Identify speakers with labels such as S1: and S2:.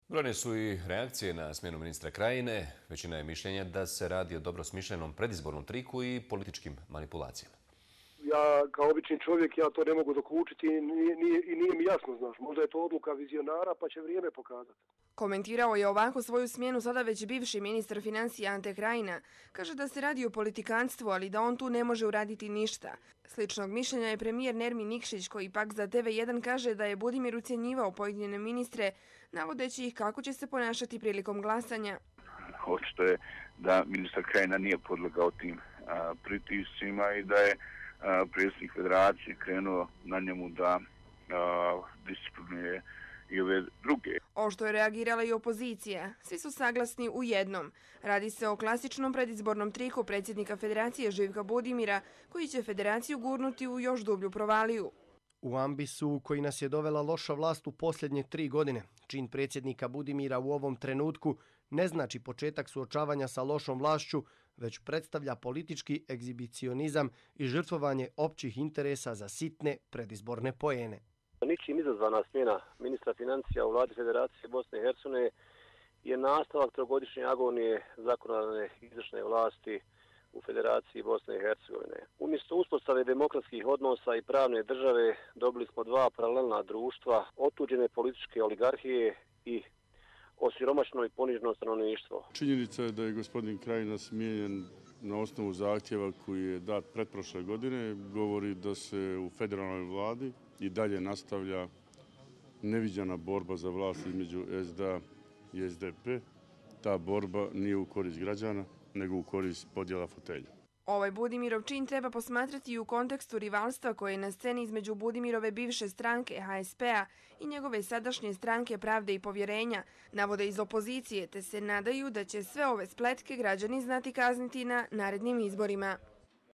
S1: Brojne su i reakcije na smjenu ministra Krajine. Većina je mišljenja da se radi o dobro smišljenom predizbornom triku i političkim manipulacijama.
S2: Ja kao obični čovjek ja to ne mogu dokučiti i nije mi jasno, znaš. Možda je to odluka vizionara pa će vrijeme pokazati.
S3: Komentirao je ovako svoju smjenu sada već bivši ministar financija Ante Krajina. Kaže da se radi o politikanstvu, ali da on tu ne može uraditi ništa. Sličnog mišljenja je premijer Nermin Nikšić, koji pak za TV1 kaže da je Budimir ucjenjivao pojedine ministre, navodeći ih kako će se ponašati prilikom glasanja.
S4: Očito je da ministar Krajina nije podlegao tim pritiscima i da je predsjednik federacije krenuo na njemu da disciplinuje i ove druge.
S3: Oštro je reagirala i opozicija. Svi su saglasni u jednom. Radi se o klasičnom predizbornom triku predsjednika federacije Živka Budimira, koji će federaciju gurnuti u još dublju provaliju.
S5: U ambisu koji nas je dovela loša vlast u posljednje 3 godine, čin predsjednika Budimira u ovom trenutku ne znači početak suočavanja sa lošom vlašću, već predstavlja politički egzibicionizam i žrtvovanje općih interesa za sitne predizborne poene.
S6: Ničim izazvana smjena ministra financija u vladi Federacije Bosne i Hercegovine je nastavak trogodišnje agonije zakonodavne izvršne vlasti u Federaciji Bosne i Hercegovine. Umjesto uspostave demokratskih odnosa i pravne države dobili smo dva paralelna društva, otuđene političke oligarhije i osiromašeno i poniženo stanovništvo.
S7: Činjenica je da je gospodin Krajina smijenjen na osnovu zahtjeva koji je dat pretprošle godine. Govori da se u federalnoj vladi i dalje nastavlja neviđena borba za vlast između SDA i SDP. Ta borba nije u korist građana, nego u korist podjela fotelja.
S3: Ovaj Budimirov čin treba posmatrati i u kontekstu rivalstva koje je na sceni između Budimirove bivše stranke HSP-a i njegove sadašnje stranke Pravde i povjerenja, navode iz opozicije, te se nadaju da će sve ove spletke građani znati kazniti na narednim izborima.